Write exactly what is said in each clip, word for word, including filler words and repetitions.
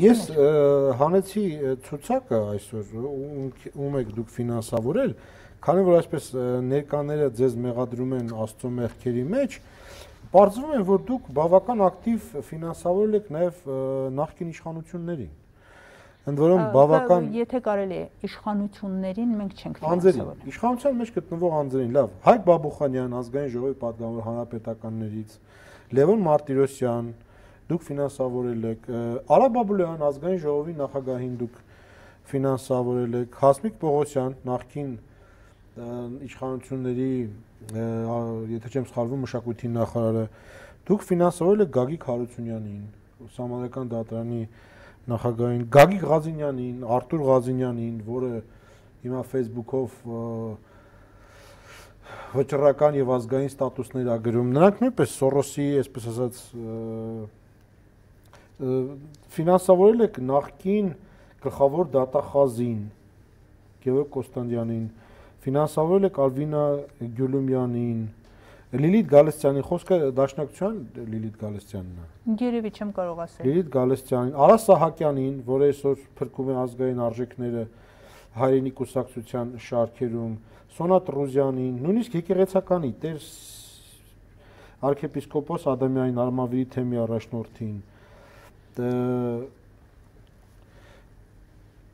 Ես հանեցի ցուցակը այսօր ում եք դուք ֆինանսավորել, քանի որ այսպես ներկաները ձեզ մեղադրում են Աստծո մեղքերի մեջ, պարզվում է, որ դուք բավական ակտիվ ֆինանսավորել եք նաև նախկին իշխանություններին։ Ընդ որում բավական Եթե կարելի է իշխանություններին մենք չենք ֆինանսավորել։ Իշխանության մեջ գտնվող անձերին, լավ, Հայկ Բաբուխանյան, ազգային ժողովի պատգամավոր հանրապետականներից, Լևոն Մարտիրոսյան, դուք ֆինանսավորել եք, Արա Բաբուլյան, ազգային ժողովի նախագահին դուք ֆինանսավորել եք, Հասմիկ Պողոսյան, նախկին իշխանությունների, եթե չեմ սխալվում, մշակույթի նախարարը, դուք ֆինանսավորել եք Գագիկ Հարությունյանին, Սահմանադրական դատարանի նախագահին, Գագիկ Ղազինյանին, Արտուր Ղազինյանին, որը հիմա Facebook-ով վճռական եւ ազգային ստատուսներ ա գրում, նրանք նույնպես Սորոսի, այսպես ասած, ֆինանսավորել եք նախկին գլխավոր դատախազին Գևորգ Կոստանդյանին, ֆինանսավորել եք Ալվինա Գյուլումյանին, Լիլիթ Գալստյանի, խոսքը Դաշնակցության Լիլիթ Գալստյանն է։ Երևի չեմ կարող ասել։ Լիլիթ Գալստյանին, Արա Սահակյանին, որը այսօր փրկում է ազգային արժեքները հայրենի կուսակցության շարքերում, Սոնա Տրուզյանին, նույնիսկ եկեղեցականի Տեր arczepiskopos Ադամյանին, Արմավիրի թեմի առաջնորդին։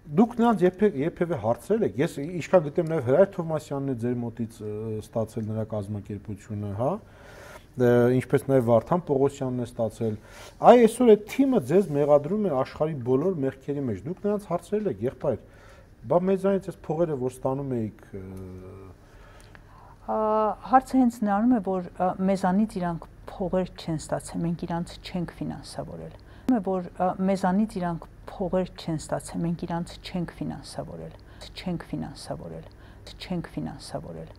Դուք նրանց երբևէ հարցրել եք, ես ինչքան գիտեմ նաև Հրայր Թովմասյանն է ձեր մոտից ստացել նրա կազմակերպությունը, հա, ինչպես նաև Վարդան Պողոսյանն է ստացել։ Այ այսօր այդ թիմը ձեզ մեղադրում է աշխարհի բոլոր մեղքերի մեջ։ Դուք նրանց հարցրել եք, եղբայր, բա մեզանից այս փողերը որ ստանում էիք Հարցը հենց նրանում է, որ մեզանից իրանք փողեր չեն ստացել, մենք իրանց չենք ֆինանսավորել։ Որ մեզանից իրանք փողեր չեն ստացել, մենք իրանց չենք ֆինանսավորել, չենք ֆինանսավորել, չենք ֆինանսավորել։